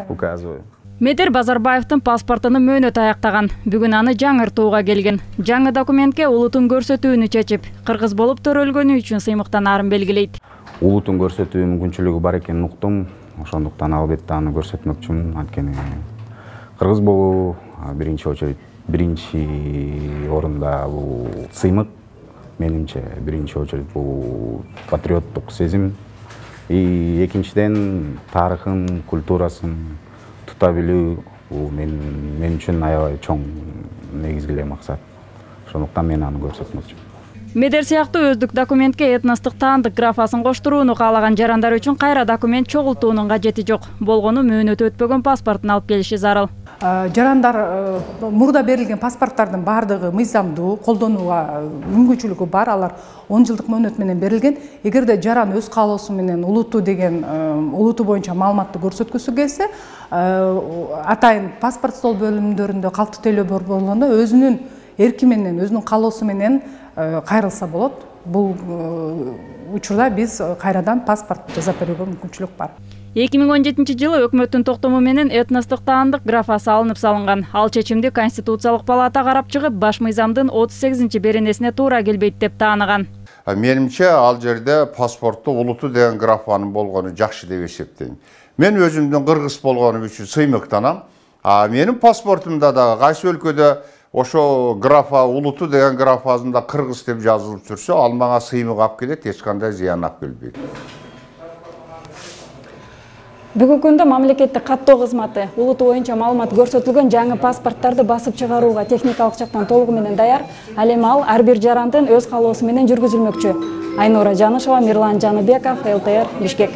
Указываю. Медер Базарбаевдин паспортунун мөөнөтү аяктаган. Бүгүн аны жаңыртууга келген. Жаңы документке улутун көрсөтүүнү чечип, кыргыз болуп төрөлгөнү үчүн сыймыктанаарын белгилейт. Улутун көрсөтүү мүмкүнчүлүгү бар экенин уктум. Ошондуктан албетте аны көрсөтмөкчүмүн. Анткени кыргыз болуу биринчи орунда бул сыймык. Менимче биринчи очередь бул патриоттук сезим. И экинчиден тарыхын, культурасын тута билүү бул мен үчүн аябай чоң негизги эле максат. Ошондуктан мен аны көрсөтмөкчүмүн. Медер сыяктуу өздүк документке этностук таандык графасын коштурууну каалаган жарандар үчүн кайра документ чогултуунун кажети жок. Болгону мөөнөтү өтпөгөн паспортун алып келиши зарыл. Жарандар мурда берилген паспорттардын баардыгы мыйзамдуу, колдонууга мүмкүнчүлүгү бар. Алар 10 жылдык мөөнөт менен берилген. Эгерде жаран өз каалоосу менен улуту боюнча маалыматты көрсөткүсү келсе, атайын паспорт стол бөлүмдөрүндө калктуу төлөө борборуна өзүнүн эрки менен, өзүнүн каалоосу менен кайрылса болот. Бул учурда биз кайрадан паспорт жасап берүүгө мүмкүнчүлүк бар. 2017 өкмөттүн токтому менен этностук таандык графасы алынып салынган. Ал чечимди Конституциялык палата карап чыгып, баш мыйзамдын 38 беренесине туура келбейт деп тааныган. Менимче ал жерде паспортто улуту деген графанын болгону жакшы деп эсептейм. Мен өзүмдүн кыргыз болгонум үчүн сыймыктанам. Менин паспортумда да кайсы өлкөдө ошо графа улуту деген графасында кыргыз деп жазылып жүрсө, ал мага сыймык алып келет, эч кандай зыян алып келбейт. Бүгүнкү күндө мамлекеттик каттоо кызматы улуту боюнча маалымат көрсөтүлгөн жаңы паспорттарды басып чыгарууга техникалык жактан толугу менен даяр. Ал эми ал ар бир жарандын өз каалоосу менен жүргүзүлмөкчү. Айнура Жанышева, Мирлан Жаныбеков, ЛТР, Бишкек.